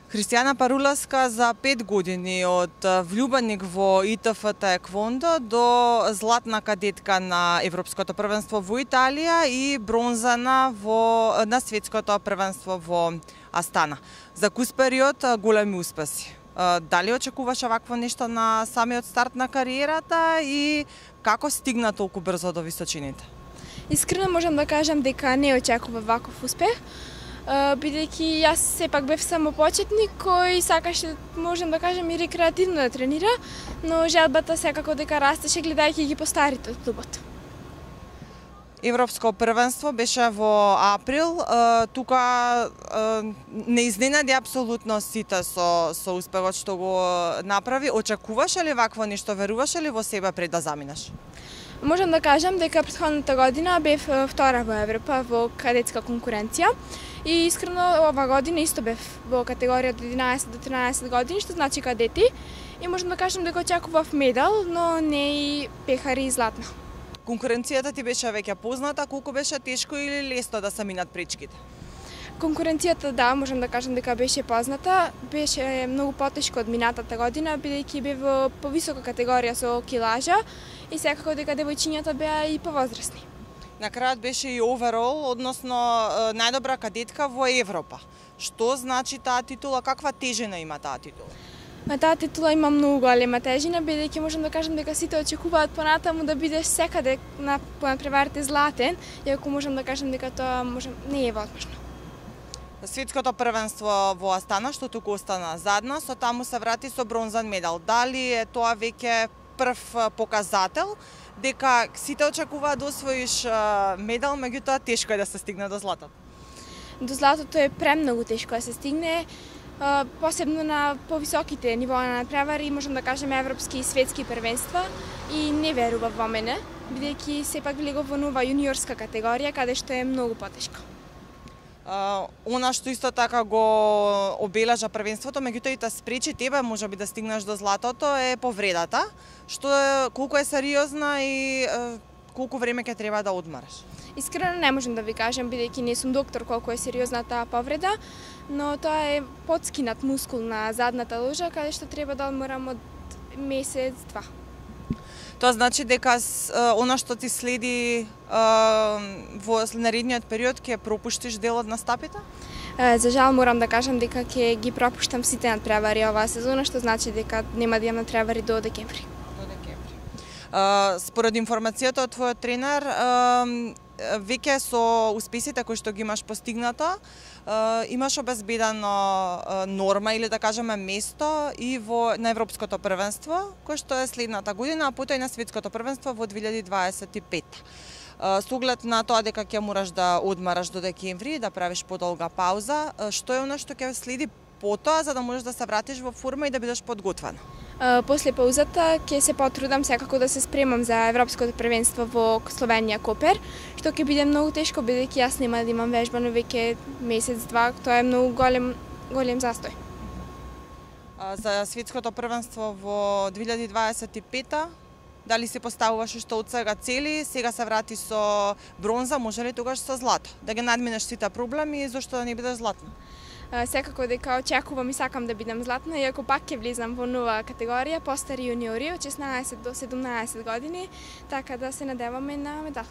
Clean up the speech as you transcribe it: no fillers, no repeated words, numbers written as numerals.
Христијана Парулевска за 5 години од влюбеник во ИТФ таеквондо до златна кадетка на Европското првенство во Италија и бронзана на светското првенство во Астана. За кус период големи успеси. Дали очекуваше вакво нешто на самиот старт на кариерата и како стигна толку брзо до височините? Искрено можам да кажам дека не очекував ваков успех, бидејќи јас сепак бев само почетник кој сакаше, можам да кажам, и рекреативно да тренира, но желбата секако дека растеше гледајќи ги постарите од клубот. Европско првенство беше во април, тука не изненади апсолутно сите со успехот што го направи. Очекуваше ли вакво нешто, веруваше ли во себе пред да заминеш? Можам да кажам дека претходната година бев втора во Европа во кадетска конкуренција и искрено ова година исто бев во категорија од 11 до 13 години, што значи кадети, и можам да кажам дека очекував медал, но не и пехари и златна. Конкуренцијата ти беше веќе позната, колку беше тешко или лесно да се минат пречките? Конкуренцијата, да, можам да кажам дека беше позната, беше многу потешко од минатата година, бидејќи бев во повисока категорија со килажа и секако дека девојчињата беа и повозрасни. На крајот беше и оверол, односно најдобра кадетка во Европа. Што значи таа титула, каква тежина има таа титула? Таа титула има многу голема тежина, бидејќи можам да кажам дека сите очекуваат понатаму да бидеш секаде на надпреварите златен, иако можам да кажам дека тоа не е возможно. Светското првенство во Астана, што туку остана задна, со таму се врати со бронзан медал. Дали е тоа веќе прв показател дека сите очекуваат да освоиш медал, меѓутоа тешко е да се стигне до златото? До златото е премногу тешко да се стигне, посебно на повисоките нивоа на надпревари, можам да кажем европски и светски првенства, и не верував во мене, бидејќи сепак влегов во нова јуниорска категорија, каде што е многу потешко. Она што исто така го обележа првенството, меѓутоа и те спречи тебе можеби да стигнеш до златото, е повредата, што колку е сериозна и колку време ќе треба да одмараш? Искрено не можам да ви кажам, бидејќи не сум доктор, колку е сериозна таа повреда, но тоа е подскинат мускул на задната ложа, каде што треба да одморам од месец-два. Тоа значи дека она што ти следи во наредниот период ќе пропуштиш дел од настапите? За жал морам да кажам дека ќе ги пропуштам сите надпревари оваа сезона, што значи дека нема да имам надпревари до декември. Според информацијата од твојот тренер, веќе со успесите кои што ги имаш постигнато, имаш обезбедено норма или да кажеме место и на Европското првенство, кој што е следната година, а потоа и на Светското првенство во 2025. Со оглед на тоа дека ќе мораш да одмараш до декември, да правиш подолга пауза, што е она што ќе следи потоа за да можеш да се вратиш во форма и да бидеш подготвена? После паузата ќе се потрудам секако да се спремам за Европското првенство во Словенија Копер, што ќе биде многу тешко бидејќи јас нема да имам вежбано веќе месец-два, тоа е многу голем застој. За Светското првенство во 2025 дали се поставуваш што од сега цели, сега се врати со бронза, може ли тогаш со злато? Да ги надминеш сите проблеми и зошто да не бидеш златна? Секако дека очекувам и сакам да бидам златна, иако пак ќе влезам во нова категорија, постари јуниори од 16 до 17 години, така да се надеваме на медал.